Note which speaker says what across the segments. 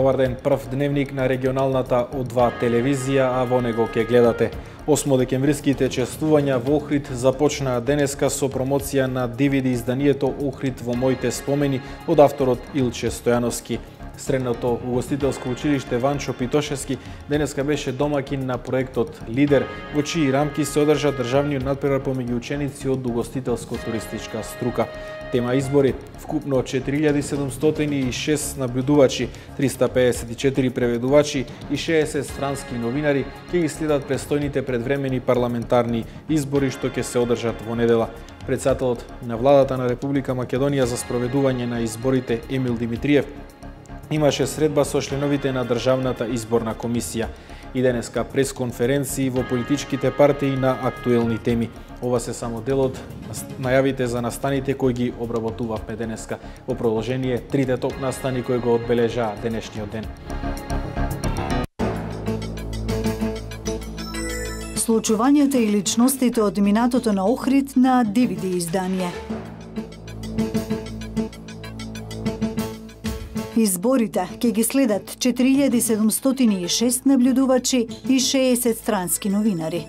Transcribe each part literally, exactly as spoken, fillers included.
Speaker 1: Добар ден, прв дневник на регионалната О два телевизија, а во него ќе гледате. осмодекемвриските чествувања во Охрид започнаа денеска со промоција на Ди Ви Ди изданието Охрид во моите спомени од авторот Илче Стојановски. Средното угостителско училиште Ванчо Питошевски денеска беше домакин на проектот Лидер, во чии рамки се одржа државниот надпревар помеѓу ученици од угостителско-туристичка струка. Тема избори: вкупно четири илјади седумстотини и шест наблюдувачи, триста пеесет и четири преведувачи и шеесет странски новинари ќе ги следат престојните предвремени парламентарни избори што ќе се одржат во недела. Претседателот на владата на Република Македонија за спроведување на изборите Емил Димитриев имаше средба со членовите на Државната изборна комисија и денеска пресконференции во политичките партии на актуелни теми. Ова се само дел од најавите за настаните кои ги обработувавме денеска. Во продолжение трите топ настани кои го одбележаа денешниот ден.
Speaker 2: Случувањата и личностите од минатото на Охрид на Ди Ви Ди издание. Изборите ќе ги следат четири илјади седумстотини и шест наблюдувачи и шеесет странски новинари.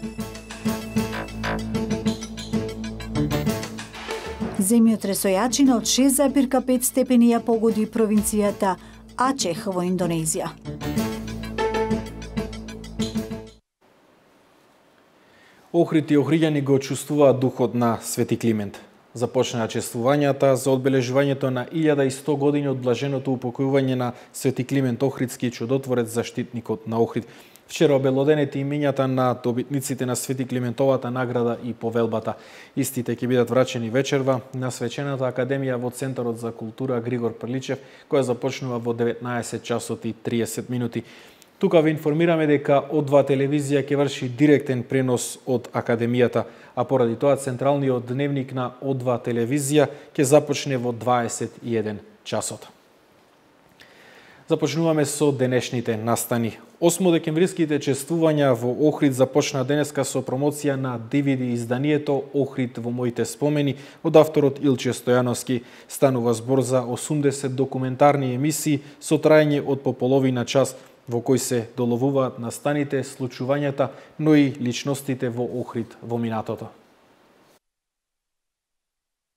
Speaker 2: Земјотресојачина од шест запирка пет степени ја погоди провинцијата Ачех во Индонезија.
Speaker 1: Охрид и охриѓани го чувствуваат духот на Свети Климент. Започнаа чествувањата за одбележувањето на илјада и сто години од блаженото упокојување на Свети Климент Охридски, чудотворец, заштитникот на Охрид. Вчера обелоденети имињата на добитниците на Свети Климентовата награда и повелбата. Истите ќе бидат врачени вечерва на Свечената академија во Центарот за култура Григор Прличев, која започнува во деветнаесет часот и триесет минути. Тука ви информираме дека О два телевизија ќе врши директен пренос од академијата, а поради тоа централниот дневник на О два телевизија ќе започне во дваесет и еден часот. Започнуваме со денешните настани. осмодекемвриските чествувања во Охрид започна денеска со промоција на Ди Ви Ди изданието Охрид во моите спомени од авторот Илче Стојановски. Станува збор за осумдесет документарни емисии со трајање од по половина час, во кој се доловуваат настаните, случувањата, но и личностите во Охрид во минатото.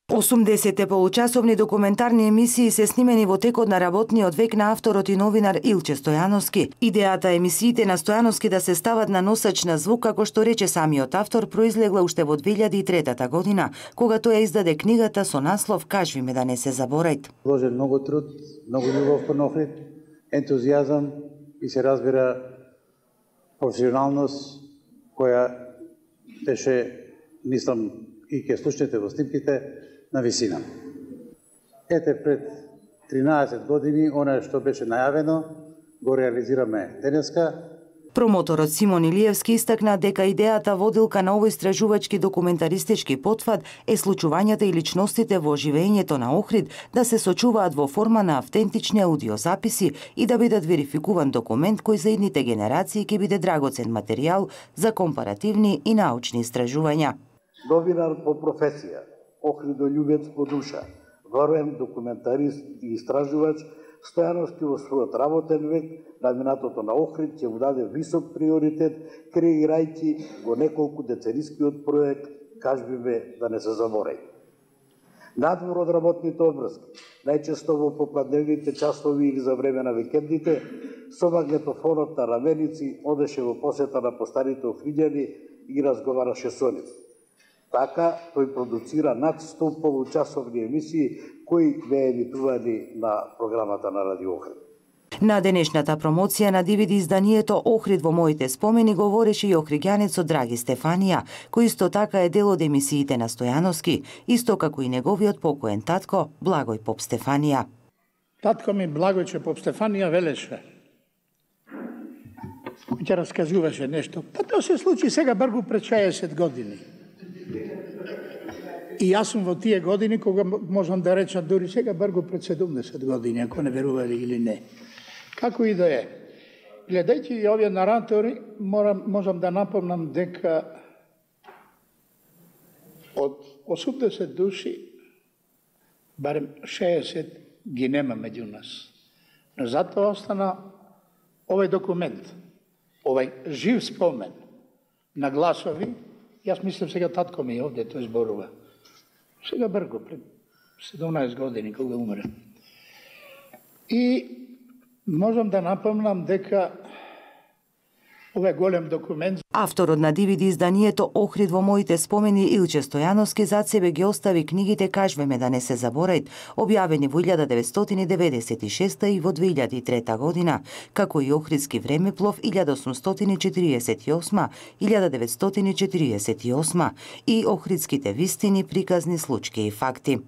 Speaker 3: осумдесет получасовни документарни емисии се снимени во текот на работниот век на авторот и новинар Илче Стојановски. Идејата емисиите на Стојановски да се стават на носач на звук, како што рече самиот автор, произлегла уште во две илјади и трета година, кога тој ја издаде книгата со наслов "Кажи ми да не се заборајт".
Speaker 4: Вложен многу труд, многу љубов кон Охрид, ентузијазам и се разбира професионалност која беше, мислам, и ке слушнете во снимките, на висина. Ете, пред тринаесет години, она што беше најавено, го реализираме денеска.
Speaker 3: Промоторот Симон Илиевски истакна дека идејата водилка на овој истражувачки документаристички потфат е случувањата и личностите во живеењето на Охрид да се сочуваат во форма на автентични аудиозаписи и да бидат верификуван документ кој за идните генерации ќе биде драгоцен материјал за компаративни и научни истражувања.
Speaker 4: Новинар по професија, охридолюбец по душа, воен документарист и истражувач, Стојановски во својот работен век на минатото на Охрид ќе му даде висок приоритет, креирајќи го неколку деценискиот проект "Кажби ме да не се заборај". Надвор од работните обврски, најчесто во попладневните часови или за време на викендите, со магнетофонот на раменици одеше во посета на постарите охриѓани и разговараше со нив. Така, тој продуцира над сто получасовни емисии кои беа емитувани на програмата на Радио Охрид.
Speaker 3: На денешната промоција на Ди Ви Ди изданието Охрид во моите спомени говореше и охриѓанецот Драги Стефанија, кој исто така е дел од емисиите на Стојановски, исто како и неговиот покоен татко Благој Поп Стефанија.
Speaker 5: Татко ми Благојче Поп Стефанија велеше, кој ќе расказуваше нешто, па тоа се случи сега бргу пред шеесет години. И јас сум во тие години кога можам да речам дури сега бргу пред седумдесет години, ако не верували или не. Како и да е. Гледајќи и овие наратори, морам, можам да напомнам дека од осумдесет души, барем шеесет ги нема меѓу нас. Затоа остана овој документ, овој жив спомен на гласови. Јас мислам сега татко ми е овде, тој зборува. Сега брго, пред седумнаесет години, кога умре. И можам да напомнам дека овој голем документ.
Speaker 3: Авторот на ди ви ди изданието Охрид во моите спомени Илче Стојановски зад себе ги остави книгите Кажвеме да не се заборајат, објавени во илјада деветстотини деветдесет и шеста и во две илјади и трета година, како и Охридски времеплов илјада осумстотини четириесет и осма - илјада деветстотини четириесет и осма и Охридските вистини, приказни, случаи и факти.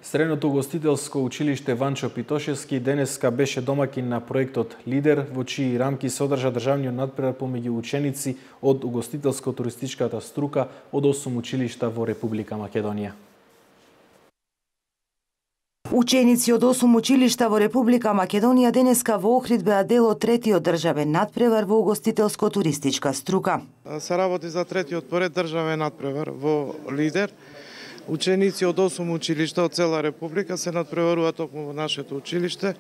Speaker 1: Средното угостителско училиште Ванчо Питошевски денеска беше домакин на проектот Лидер, во чии рамки се одржа државниот надпревар помеѓу ученици од угостителско-туристичката струка од осум училишта во Република Македонија.
Speaker 3: Ученици од осум училишта во Република Македонија денеска во Охрид беа дел од третиот државен надпревар во угостителско-туристичка струка.
Speaker 6: Се работи за третиот поред државен надпревар во Лидер. Ученици од осум училишта од цела Република се надпреваруваат токму во нашето училиште.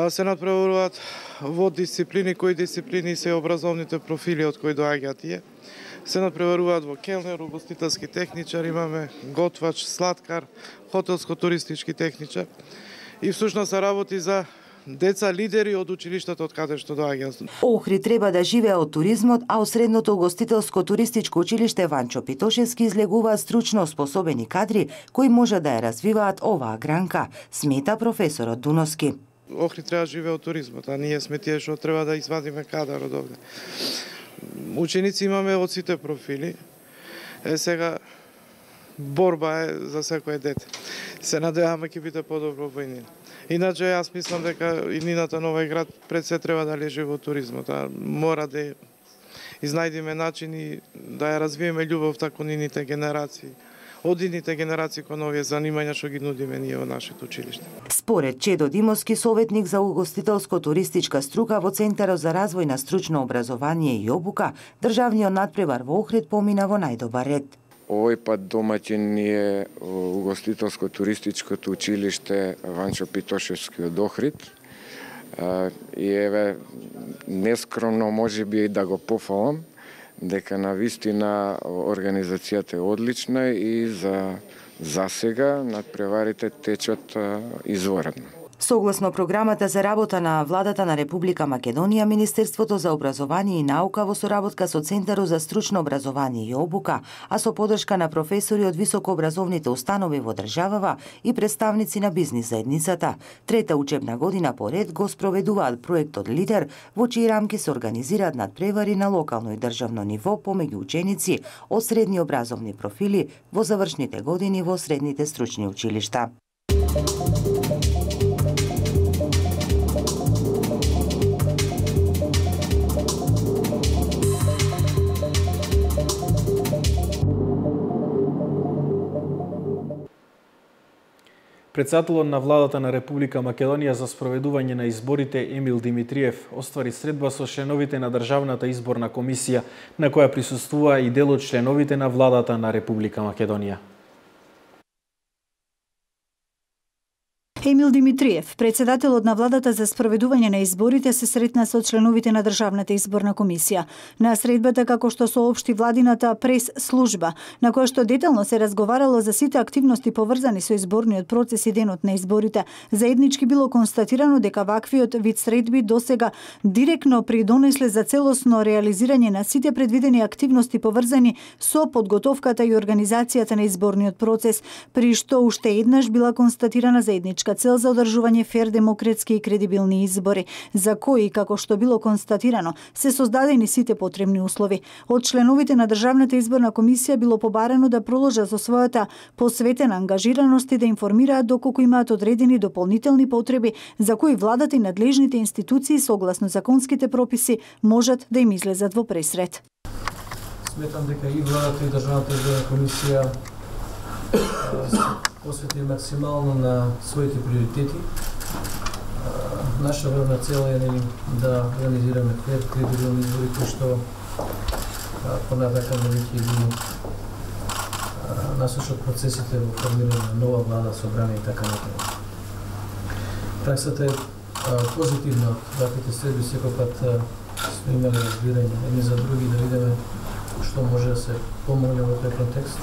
Speaker 6: Се надпреваруваат во дисциплини, кои дисциплини се образовните профили од кои доаѓаат тие. Се надпреваруваат во келнер, угостителски техничар, имаме готвач, сладкар, хотелско-туристички техничар. И всушност се работи за деца лидери од училиштата од каде што доаѓаат.
Speaker 3: Охрид треба да живее од туризмот, а од средното угостителско-туристичко училиште Ванчо Питошевски излегуваат стручно способени кадри кои може да ја развиваат оваа гранка, смета професорот Дуноски.
Speaker 6: Охрид треба да живее од туризмот, а ние сме тие што треба да извадиме кадар од овде. Ученици имаме од сите профили. Е сега борба е за секој дете. Се надеваме ќе биде подобро во иднина. Иначе јас мислам дека иднината на овој град пред се треба да лежи во туризмот, а мора да изнајдиме начини да ја развиеме љубовта кон идните генерации. Од идните генерации кон овие занимања што ги нудиме ние во нашето училиште.
Speaker 3: Според Чедо Димовски, советник за угостителско-туристичка струка во Центарот за развој на стручно образование и обука, државниот надпревар во Охрид помина во најдобар ред.
Speaker 7: Овој пат домаќин ни е угостителско-туристичкото училиште Ванчо Питошевски од Охрид. И еве, нескромно може би да го пофалам, дека на вистина организацијата е одлична и за засега надпреварите течат изворедно.
Speaker 3: Согласно програмата за работа на владата на Република Македонија, Министерството за образование и наука во соработка со Центарот за стручно образование и обука, а со подршка на професори од високообразовните установи во државава и представници на бизнис заедницата, трета учебна година поред го спроведуваат проектот Лидер, во чии рамки се организираат надпревари на локално и државно ниво помеѓу ученици од средни образовни профили во завршните години во средните стручни училишта.
Speaker 1: Председателот на владата на Република Македонија за спроведување на изборите Емил Димитриев оствари средба со членовите на Државната изборна комисија, на која присуствува и дел од членовите на владата на Република Македонија.
Speaker 2: Емил Димитриев, председателот на владата за спроведување на изборите, се сретна со членовите на Државната изборна комисија. На средбата, како што соопшти владината прес служба, на која што детално се разговарало за сите активности поврзани со изборниот процес и денот на изборите, заеднички било констатирано дека ваквиот вид средби досега директно придонесле за целосно реализирање на сите предвидени активности поврзани со подготовката и организацијата на изборниот процес, при што уште еднаш била констатирана заедничка цел за одржување фер, демократски и кредибилни избори, за кои, како што било констатирано, се создадени сите потребни услови. Од членовите на Државната изборна комисија било побарано да продолжат со својата посветена ангажираност и да информираат доколку имаат одредени дополнителни потреби за кои владата и надлежните институции согласно законските прописи можат да им излезат во пресред.
Speaker 8: Сметам дека и владата и Државната изборна комисија посвети максимално на своите приоритети. Наша главна цел е да реализираме фер, кредибилни избори кои што понатака веќе ги насочат процесите во формирање на нова влада, собрание и така натаму. Праксата е позитивна од ваквите средби, секој пат сме имали разбирање едни за други, да видиме што може да се помогне во тој контекст,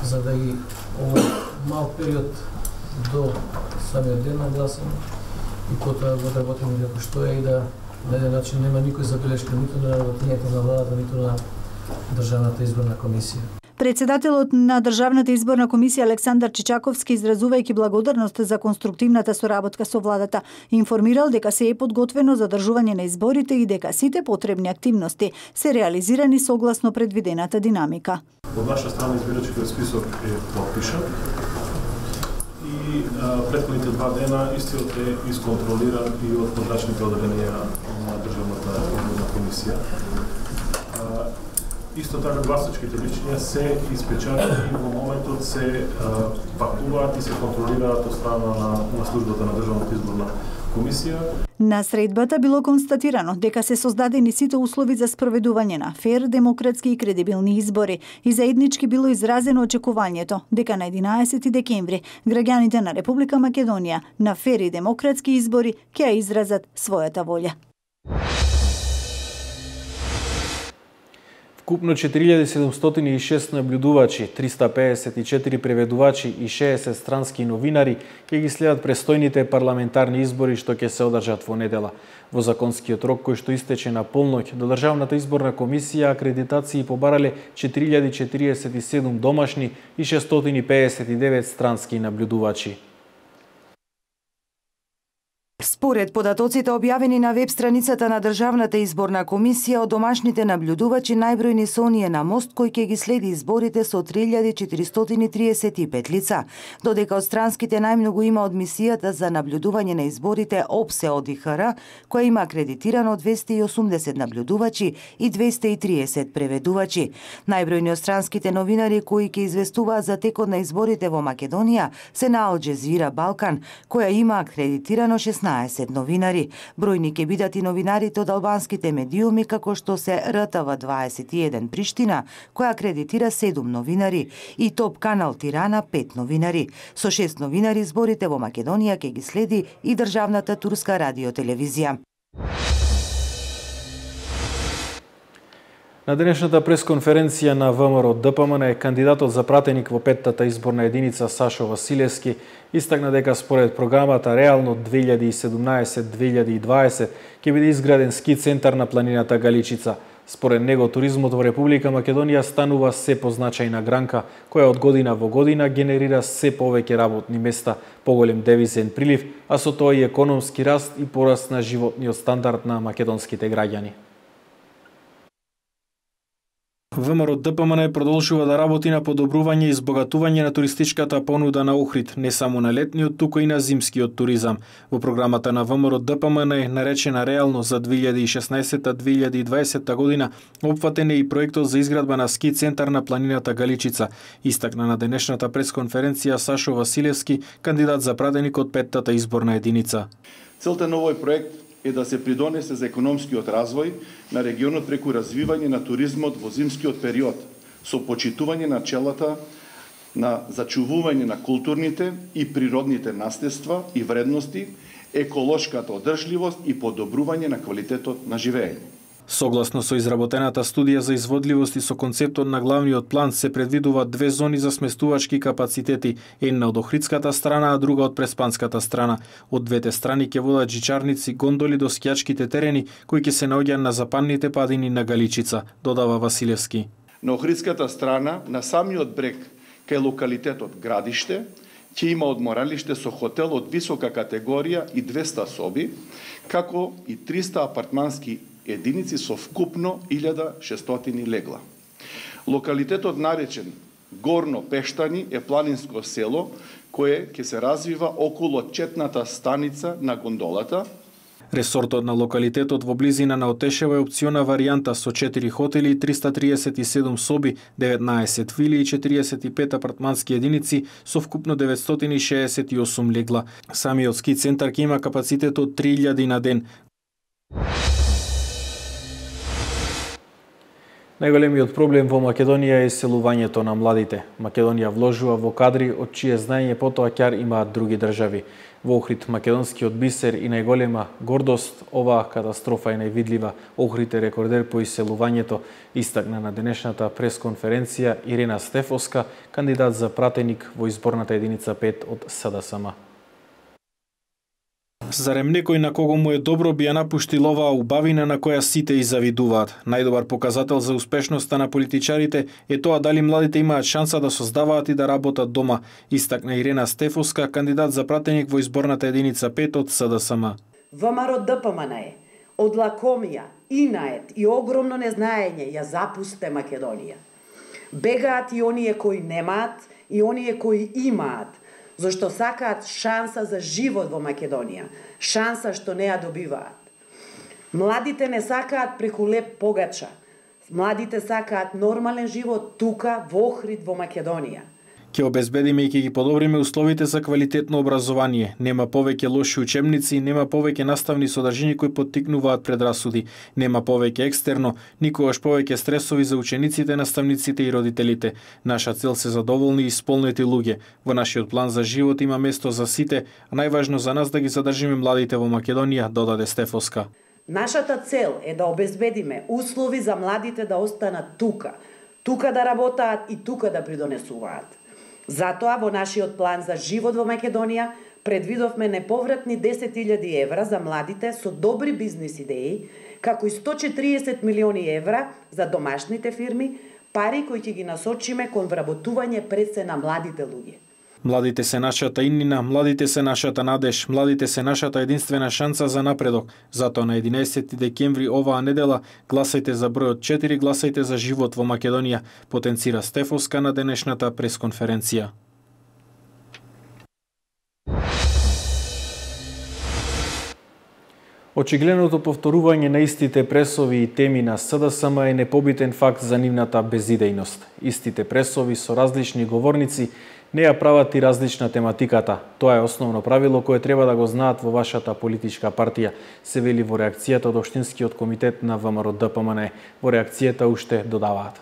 Speaker 8: за да и овој мал период до самиот ден на гласање и потоа го одработиме како што е и да на еден начин нема никој забелешка ниту на работењето на владата, ниту на Државната изборна комисија.
Speaker 2: Председателот на Државната изборна комисија Александар Чичаковски, изразувајќи благодарност за конструктивната соработка со владата, информирал дека се е подготвено за одржување на изборите и дека сите потребни активности се реализирани согласно предвидената динамика.
Speaker 9: Од наша страна избирачкиот список е подпишан и а, претходните два дена истиот е исконтролиран и од подрачните одделенија на Државната изборна комисија. А, Исто така гласачките личња се испечатени и во моментот се а, пакуваат и се контролираат од страна на, на службата на Државната изборна комисија.
Speaker 2: На средбата било констатирано дека се создадени сите услови за спроведување на фер, демократски и кредибилни избори и заеднички било изразено очекувањето дека на единаесети декември граѓаните на Република Македонија на фер и демократски избори ќе ја изразат својата волја.
Speaker 1: Вкупно четири илјади седумстотини и шест наблюдувачи, триста пеесет и четири преведувачи и шеесет странски новинари ќе ги следат престојните парламентарни избори што ќе се одржат во недела. Во законскиот рок кој што истече на полноќ, до Државната изборна комисија акредитации побарале четири илјади четириесет и седум домашни и шестстотини пеесет и девет странски наблюдувачи.
Speaker 3: Според податоците објавени на веб страницата на Државната изборна комисија, од домашните наблюдувачи најбројни се оние на мост кој ќе ги следи изборите со три илјади четиристотини триесет и пет лица, додека од странските најмногу има од мисијата за наблюдување на изборите ОПСЕ од ИХР, која има акредитирано двесте и осумдесет наблюдувачи и двесте и триесет преведувачи. Најбројни од странските новинари кои ќе известуваат за текот на изборите во Македонија се на Ал Џезира Балкан, која има акредитирано шеснаесет новинари. Бројни ќе бидат и новинарите од албанските медиуми, како што се Р Т В дваесет и еден Приштина, која акредитира седум новинари, и Топ Канал Тирана пет новинари. Со шест новинари изборите во Македонија ќе ги следи и државната турска радиотелевизија.
Speaker 1: На денешната пресконференција на В М Р Д П М Н кандидатот за пратеник во петтата изборна единица Сашо Василевски истакна дека според програмата реално две илјади и седумнаесет - две илјади и дваесет ќе биде изграден ски центар на планината Галичица. Според него туризмот во Република Македонија станува се позначајна гранка, која од година во година генерира се повеќе работни места, поголем девизен прилив, а со тоа и економски раст и пораст на животниот стандард на македонските граѓани. В М Р Д П М Н продолжува да работи на подобрување и избогатување на туристичката понуда на Охрид, не само на летниот, туку и на зимскиот туризам. Во програмата на В М Р Д П М Н, наречена реално за две илјади и шеснаесета - две илјади и дваесета година, опфатен е и проектот за изградба на ски центар на планината Галичица, истакна на денешната пресконференција Сашо Василевски, кандидат за пратеник од петтата изборна единица.
Speaker 10: Целта на овој проект е да се придонесе за економскиот развој на регионот преку развивање на туризмот во зимскиот период, со почитување на челата на зачувување на културните и природните наследства и вредности, еколошката одржливост и подобрување на квалитетот на живење.
Speaker 1: Согласно со изработената студија за изводливост и со концептот на главниот план се предвидуваат две зони за сместувачки капацитети, една од охридската страна, а друга од преспанската страна. Од двете страни ќе водат жичарници, гондоли до скијачките терени, кои ќе се наоѓаат на западните падини на Галичица, додава Василевски.
Speaker 10: На охридската страна, на самиот брег, кај локалитетот Градиште, ќе има одморалиште со хотел од висока категорија и двесте соби, како и триста апартмански единици со вкупно илјада шестстотини легла. Локалитетот наречен Горно Пештани е планинско село кое ќе се развива околу четната станица на гондолата.
Speaker 1: Ресортот на локалитетот во близина на Отешева е опциона варијанта со четири хотели, триста триесет и седум соби, деветнаесет вили и четириесет и пет апартмански единици со вкупно деветстотини шеесет и осум легла. Самиот ски центар ќе има капацитет од три илјади на ден. Најголемиот проблем во Македонија е иселувањето на младите. Македонија вложува во кадри од чие знаење потоа ќар имаат други држави. Во Охрид, македонскиот бисер и најголема гордост, оваа катастрофа е највидлива. Охрид е рекордер по иселувањето, истакна на денешната пресконференција Ирена Стефоска, кандидат за пратеник во изборната единица пет од СДСМ. Зарем некој на кого му е добро би ја напуштил оваа убавина на која сите и завидуваат. Најдобар показател за успешноста на политичарите е тоа дали младите имаат шанса да создаваат и да работат дома, истакна Ирена Стефоска, кандидат за пратеник во изборната единица пет од СДСМ.
Speaker 11: ВМРО-ДПМН од лакомија, инает и огромно незнаење ја запусте Македонија. Бегаат и оние кои немаат и оние кои имаат, зашто сакаат шанса за живот во Македонија, шанса што не ја добиваат. Младите не сакаат преку леп погача. Младите сакаат нормален живот тука во Охрид во Македонија.
Speaker 1: Ќе обезбедиме и ќе ги подобриме условите за квалитетно образование. Нема повеќе лоши учебници, нема повеќе наставни содржини кои поттикнуваат предрасуди, нема повеќе екстерно, никогаш повеќе стресови за учениците, наставниците и родителите. Наша цел се задоволни и исполнети луѓе. Во нашиот план за живот има место за сите, а најважно за нас да ги задржиме младите во Македонија, додаде Стефоска.
Speaker 11: Нашата цел е да обезбедиме услови за младите да останат тука, тука да работаат и тука да придонесуваат. Затоа во нашиот план за живот во Македонија предвидовме неповратни десет илјади евра за младите со добри бизнис идеи, како и сто и четириесет милиони евра за домашните фирми, пари кои ќе ги насочиме кон вработување пред се на младите луѓе.
Speaker 1: Младите се нашата иднина, младите се нашата надеж, младите се нашата единствена шанса за напредок. Затоа на единаесети декември оваа недела гласајте за бројот четири, гласајте за живот во Македонија, потенцира Стефоска на денешната пресконференција. Очигледното повторување на истите пресови и теми на СДСМ е непобитен факт за нивната безидејност. Истите пресови со различни говорници не ја прават и различна тематиката. Тоа е основно правило кое треба да го знаат во вашата политичка партија, се вели во реакцијата од Општинскиот комитет на ВМРО-ДПМН. Во реакцијата уште додаваат.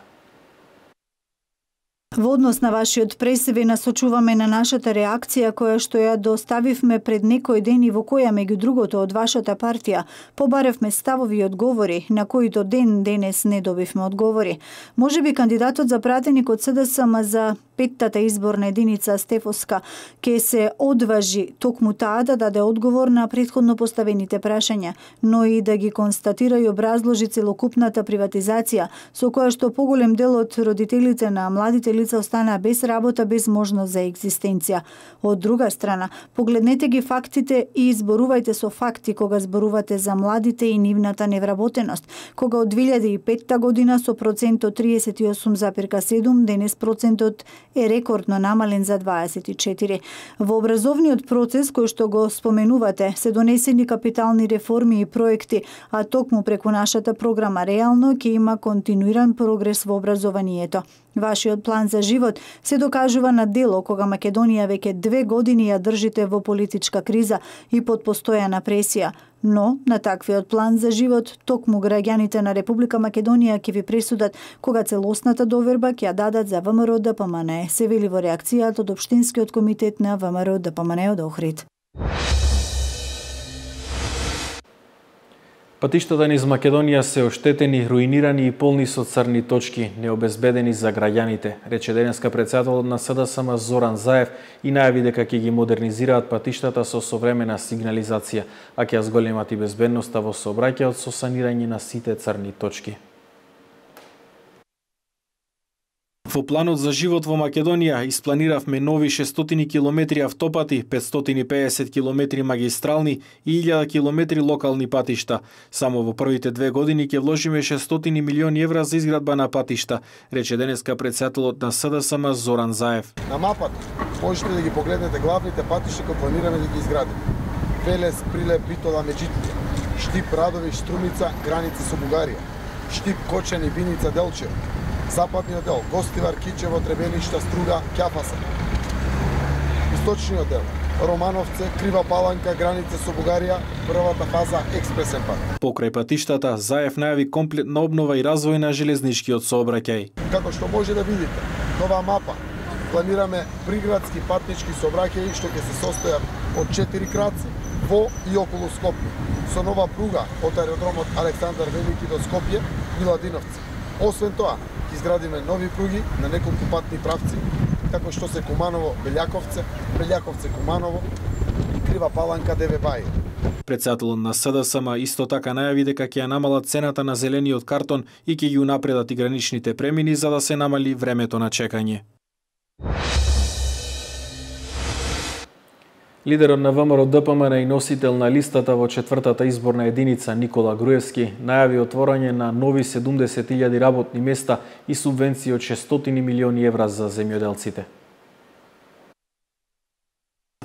Speaker 2: Во однос на вашиот пресив насочуваме на нашата реакција која што ја доставивме пред некој ден и во која меѓу другото од вашата партија побаревме ставови и одговори на кои до ден денес не добивме одговори. Можеби кандидатот за пратеник од СДСМ за петтата изборна единица Стефоска ќе се одважи токму таа да даде одговор на претходно поставените прашања, но и да ги констатира и образложи целокупната приватизација со која што поголем дел од родителите на младите лица останаа без работа, без можност за екзистенција. Од друга страна, погледнете ги фактите и изборувајте со факти кога зборувате за младите и нивната невработеност, кога од две илјади и петта година со процент од триесет и осум зарез седум, денес процентот е рекордно намален за дваесет и четири. Во образовниот процес кој што го споменувате, се донесени капитални реформи и проекти, а токму преку нашата програма реално ќе има континуиран прогрес во образованието. Вашиот план за живот се докажува на дело кога Македонија веќе две години ја држите во политичка криза и под постојана пресија. Но на таквиот план за живот токму граѓаните на Република Македонија ќе ви пресудат кога целосната доверба ќе ја дадат за ВМРО-ДПМН, се вели во реакцијата од Општинскиот комитет на ВМРО-ДПМН од Охрид.
Speaker 1: Патиштата низ Македонија се оштетени, руинирани и полни со црни точки, необезбедени за граѓаните, рече денеска претседателот на СДСМ Зоран Заев и најави дека ќе ги модернизираат патиштата со современа сигнализација, а ќе ја зголемат и безбедноста во сообраќајот со санирање на сите црни точки. Во планот за живот во Македонија испланиравме нови шестстотини километри автопати, петстотини и педесет километри магистрални и илјада километри локални патишта. Само во првите две години ќе вложиме шестстотини милиони евра за изградба на патишта, рече денеска претседателот на СДСМ Зоран Заев.
Speaker 12: На мапата можете да ги погледнете главните патишта кои планираме да ги изградиме. Велес, Прилеп, Битола, Меджитија, Штип, Радовиш, Струмица, граница со Бугарија, Штип, Кочани, Биница, Делчев, Западниот дел, Гостивар, Кичево, Требеништа, Струга, Ќафаса. Источниот дел, Романовце, Крива Паланка, граница со Бугарија, првата фаза експресен пат.
Speaker 1: Покрај патиштата, Заев најави комплетна обнова и развој на железничкиот сообраќај.
Speaker 12: Како што може да видите, нова мапа. Планираме приградски патнички сообраќаи што ќе се состојат од четири краци во и околу Скопје, со нова пруга од аеродромот Александар Велики до Скопје, Миладиновци. Освен тоа, ќе изградиме нови пруги на неколку патни правци, како што се Куманово Белјаковце, Белјаковце Куманово и Крива Паланка Деве Бај.
Speaker 1: Претседателот на СДСМ исто така најави дека ќе ја намалат цената на зелениот картон и ќе ги унапредат и граничните премини за да се намали времето на чекање. Лидерот на ВМРО Д П М Н и носител на листата во четвртата изборна единица Никола Груевски најави отворање на нови седумдесет илјади работни места и субвенции од шестстотини милиони евра за земјоделците.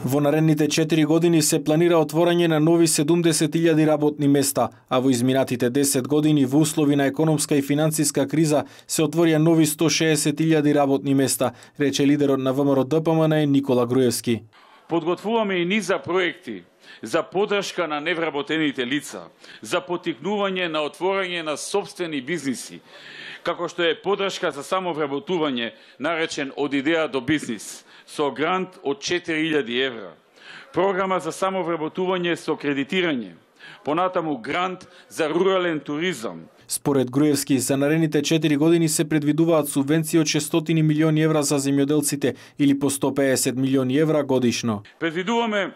Speaker 1: Во наредните четири години се планира отворање на нови седумдесет илјади работни места, а во изминатите десет години во услови на економска и финансиска криза се отворија нови сто шеесет илјади работни места, рече лидерот на ВМРО Д П М Н Никола Груевски.
Speaker 13: Подготвуваме и низа проекти за поддршка на невработените лица, за поттикнување на отворање на сопствени бизниси, како што е поддршка за самовработување, наречен од идеја до бизнис, со грант од четири илјади евра, програма за самовработување со кредитирање, понатаму грант за рурален туризам.
Speaker 1: Според Груевски, за наредните четири години се предвидуваат субвенции од шестстотини милиони евра за земјоделците или по сто пеесет милиони евра годишно.
Speaker 13: Предвидуваме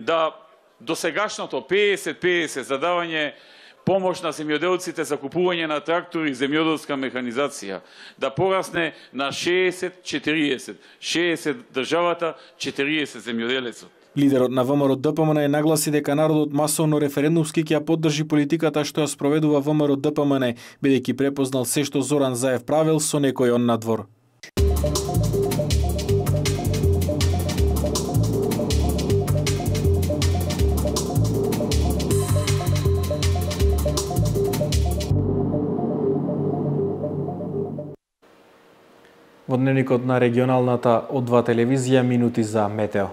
Speaker 13: да досегашното пеесет пеесет за давање помош на земјоделците за купување на трактори и земјоделска механизација да порасне на шеесет четириесет, шеесет државата, четириесет земјоделецот.
Speaker 1: Лидерот на ВМРО Д П М Н нагласи дека народот масовно референдумски ќе ја поддржи политиката што ја спроведува ВМРО Д П М Н, бидејќи препознал се што Зоран Заев правил со некој он надвор. Во дневникот на регионалната О два телевизија минути за метео.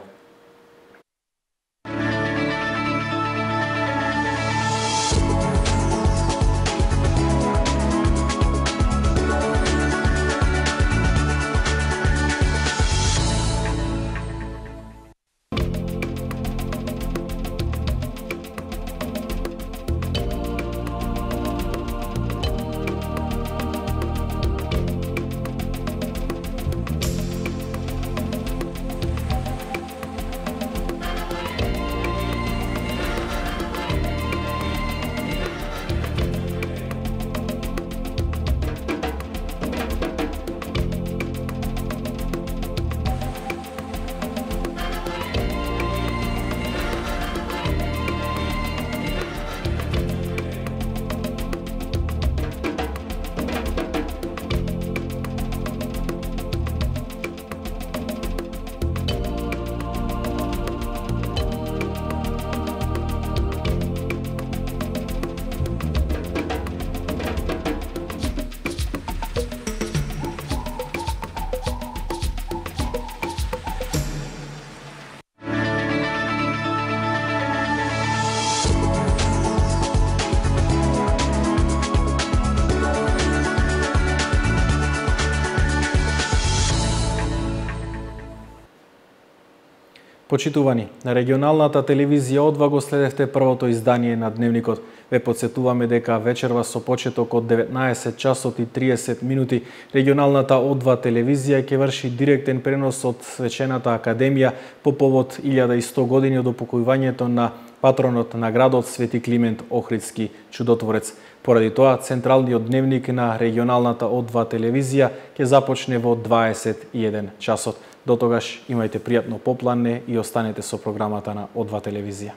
Speaker 1: Почитувани, на регионалната телевизија О два го следевте првото издание на Дневникот. Ве подсетуваме дека вечерва со почеток од деветнаесет часот и триесет минути регионалната О два телевизија ќе врши директен пренос од свечената академија по повод илјада и сто години од упокојувањето на патронот на градот Свети Климент Охридски чудотворец. Поради тоа, централниот дневник на регионалната О два телевизија ќе започне во дваесет и еден часот. До тогаш имајте пријатно попланне и останете со програмата на О два телевизија.